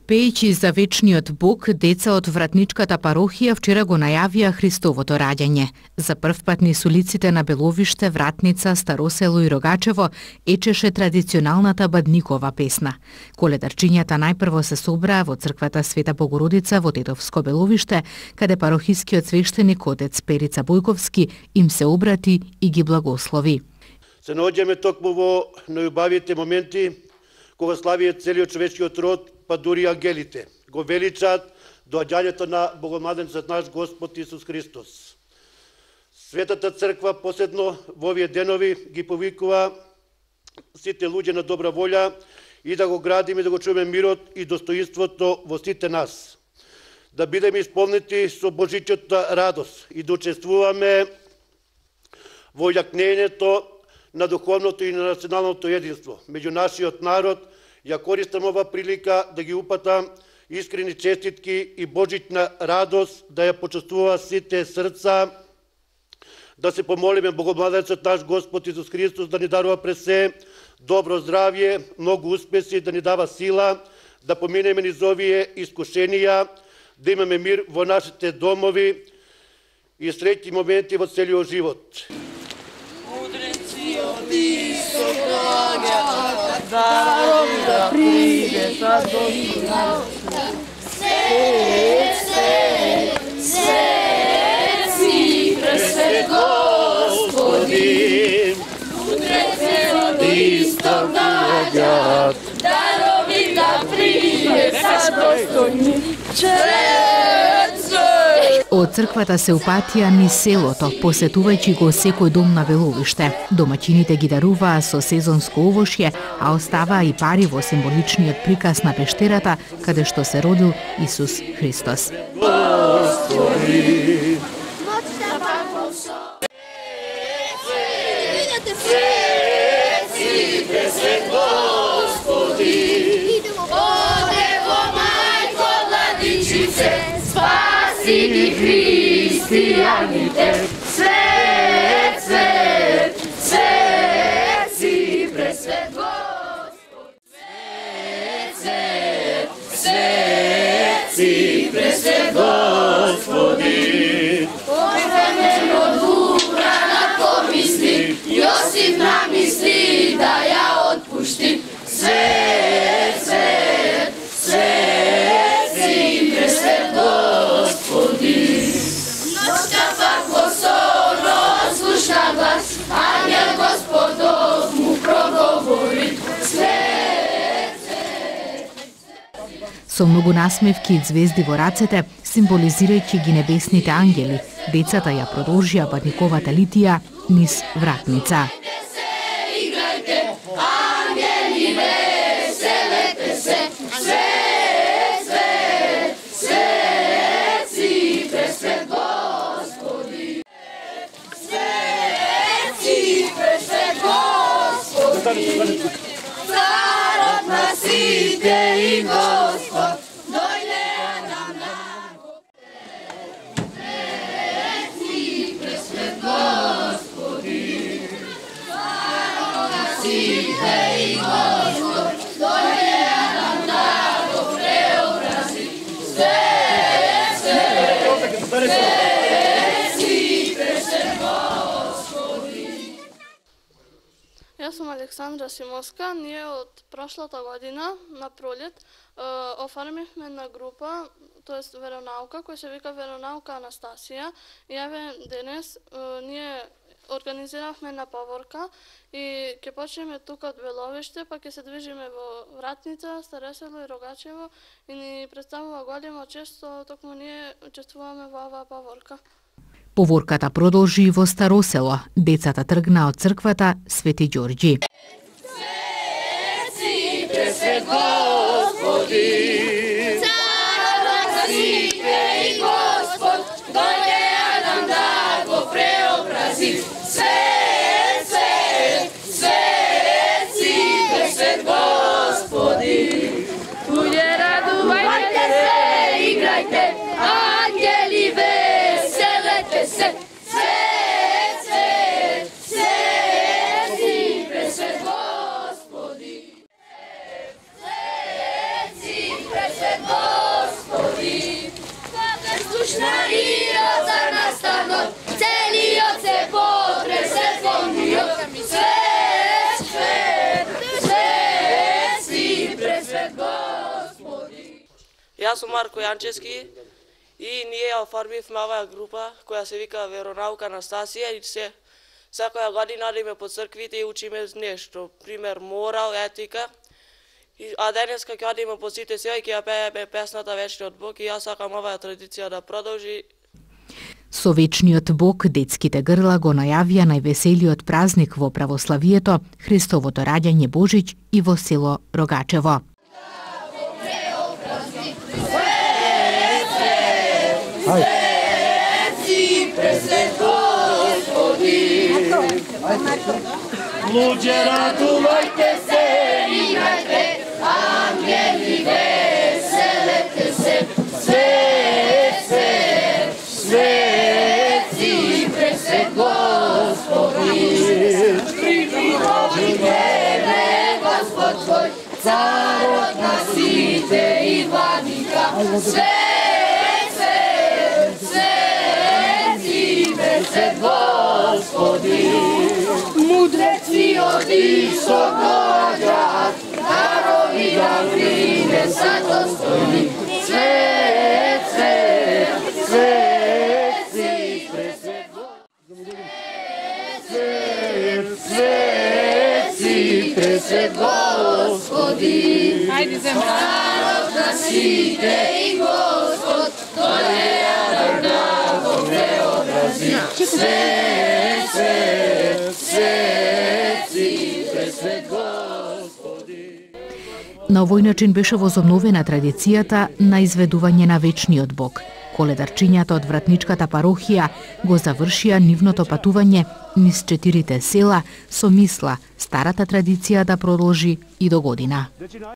Пејќи за вечниот Бог, деца од вратничката парохија вчера го најавија Христовото раѓање. За прв пат низ улиците на Беловиште, Вратница, Старосело и Рогачево ечеше традиционалната Бадникова песна. Коледарчињата најпрво се собраа во црквата Света Богородица во Тетовско Беловиште, каде парохискиот свештеник отец Перица Бојковски им се обрати и ги благослови. Се наоѓаме токму во најубавите моменти кога славије целиот човечкиот род, па дури ангелите го величаат доаѓањето на Богомладенецот наш Господ Исус Христос. Светата црква посебно во овие денови ги повикува сите луѓе на добра волја и да го градиме и да го чуваме мирот и достоинството во сите нас. Да бидеме исполнети со Божичата радост и да учествуваме во јакнењето на духовното и на националното единство меѓу нашиот народ. Ја користам ова прилика да ги упатам искрени честитки и божична радост да ја почувствува сите срца, да се помолиме Богомладенецот наш Господ Исус Христос да ни дарува през се добро здравје, многу успеси, да ни дава сила, да поминеме низ овие искушенија, да имаме мир во нашите домови и среќни моменти во целиот живот. Мудреци од исток доаѓаат, дарови да придета до нас. Свети пресвет Господи, мудреци од исток доаѓаат, дарови да придета до нас. Од црквата се упатија низ селото, посетувајќи го секој дом на Беловиште. Домаќините ги даруваа со сезонско овошје, а оставаа и пари во символичниот приказ на пештерата, каде што се родил Исус Христос. Спаси христијаните, свет, свет, свет си пресвет Господ. Свет, свет, свет си пресвет Господи. Пофемено дура на помисли, Јосиф намисли да ја отпушти. Свет, свет, свет си пресвет Господи. Ноќта пак во сон слушна глас, ангел Господов му проговори. Свет, свет. Со многу насмевки и звезди во рацете, символизирајќи ги небесните ангели, децата ја продолжија Бадниковата литија низ Вратница. Царот на сите и Господ, дојде нам наго. Свети пресвет Господи, царот на сите и Господ, дојде нам наго преобрази. Свет, свет, свети пресвет Господи. Јас сум Александра Симовска. Ние од прошлата година на пролет оформивме на група, тоест веронаука, која се вика Веронаука Анастасија. И еве денес ние организиравме на паворка и ќе почнеме тука од Беловиште, па ќе се движиме во Вратница, Старосело и Рогачево и ни представува голема чест што токму ние учествуваме во оваа паворка. Поворката продолжи во Старосело. Децата тргна од црквата Свети Ѓорѓи. Свети пресвет Господи, царот на сите и Господ, дојде нам да го преобрази. Свет, свет, свет си пресвет Господи. Луѓе, радувајте се, играјте, ангели веселете се. Свет, свет, свет си пресвет Господи. Свет си пресвет Јас сум Марко Јанчевски и ние ја оформивме оваа група која се вика Веронаука Анастасија и секоја година одиме по црквите и учиме нешто, пример морал, етика. А денеска ќе одиме по сите села и ќе ја пееме песната Вечниот Бог и јас сакам оваа традиција да продолжи. Со Вечниот Бог детските грла го најавија највеселиот празник во православието, Христовото раѓање Божич и во село Рогачево. Луѓе, радувајте се, играјте, ангели веселете се, свети пресвет Господи. Придобивме Господ твој, царот на сите и владика, свети пресвет Господи. Мудреци одишо доаѓаат, дарови да принесат достојни. Свети пресвет Господи. Царот на сите и Господ, дојде да го преобрази. На овој начин беше возобновена традицијата на изведување на Вечниот Бог. Коледарчињата од Вратничката парохија го завршија нивното патување низ 4 села со мисла старата традиција да продолжи и до година.